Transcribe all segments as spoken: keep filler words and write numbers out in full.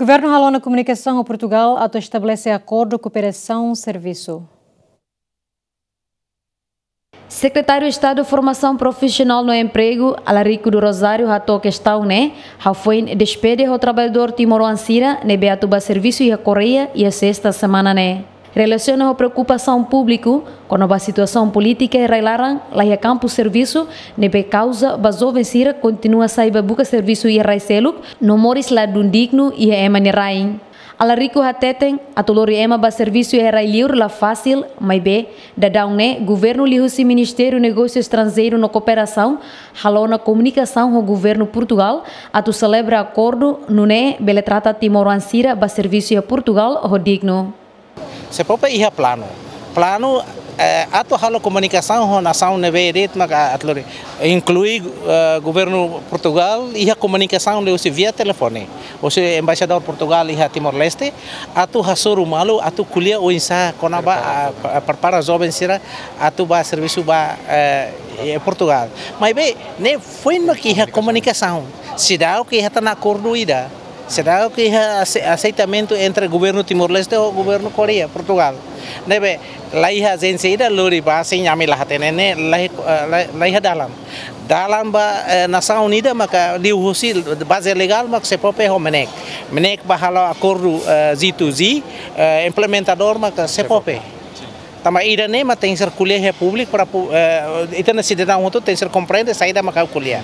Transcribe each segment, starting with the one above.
Governu hala'o ona komunikasaun ho Portugal atu estabelese akordu kooperasaun servisu. Sekretáriu Estadu Formasaun Profisionál no Empregu, Alarico do Rosário, hato'o kestaun ne'e hafoin despede ho traballadór timoroan sira ne'ebé atu bá servisu iha Koreia iha sesta semana ne'e. Relasiona ho preokupasaun públiku kona-ba situasaun polítika iha rai-laran, laiha kampu servisu ne'ebé kauza ba joven sira kontinua sai bá buka servisu iha rai seluk no moris ladún dignu iha ema nia rain. Alarico hateten, atu lori ema bá servisu iha rai liur la fasil, maibé daudaun ne'e governu liuhusi Ministériu Negósiu Estranjeiru no Kooperasaun hala'o ona komunikasaun ho governu Portugal atu selebra akordu nune'e bele trata timoroan sira bá servisu iha Portugal ho dignu. SEPOPE iha planu. Planu, eh, atu halo komunikasaun ho nasaun ne'ebé de'it maka atu lori. Inklui, eh, governu Portugal iha komunikasaun liuhusi via telefone. Husi embaixadór Portugal iha Timor-Leste, atu hasoru malu, atu ko'alia oinsá kona-ba, ah, pa-, prepara joven sira atu bá servisu bá, eh, iha Portugal. Maibé ne'e foin mak iha komunikasaun. Seidauk iha tan akordu ida. Seidauk iha aseitamentu entre governu Timor-Leste ho governu Koreia, Portugal. Ne'ebé laiha ajénsia ida lori bá, se ami la hatene ne'e, laiha, eh, laiha dalan. Dalan ba, eh, nasaun ida maka liuhusi baze legál mak SEPOPE ho MNEK. MNEK bá halo akordu, eh, G to G, eh, implementadór maka SEPOPE. Tanba ida-ne'e mak tenke ser ko'alia iha públiku para pu-, eh, ita-nia sidadaun hotu tenke ser komprende saida mak ha'u ko'alia.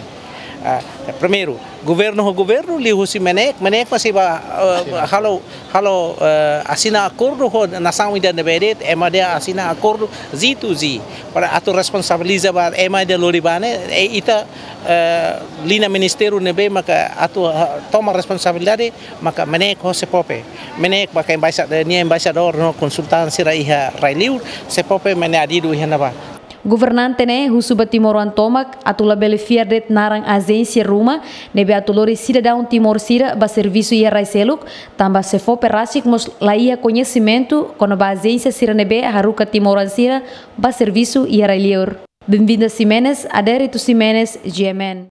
Ah, primeiru, governu ho governu liuhusi MNEK, MNEK mak sei bá, eh, halo, halo, eh, asina akordu ho nasaun ida ne'ebé de'it, ema ida asina akordu G to G. Para atu responsabiliza ba ema ida lori bá ne'e, eh, ita, eh, liña ministériu ne'ebé maka atu, ah, toma responsabilidade, maka MNEK ho SEPOPE. MNEK maka embaixadór, nia embaixadór no konsultante sira iha rai liur, SEPOPE mak nia adidu iha ne'ebá. Governante ne'e husu ba timoroan tomak atu labele fiar de'it naran ajénsia ruma ne'ebé atu lori sidadaun Timor sira bá servisu iha rai seluk, tanba SEPOPE rasik mós laiha koñesimentu kona-ba ajénsia sira ne'ebé haruka timoroan sira bá servisu iha rai liur. Benvinda Ximenes, Adérito Ximenes, G M N.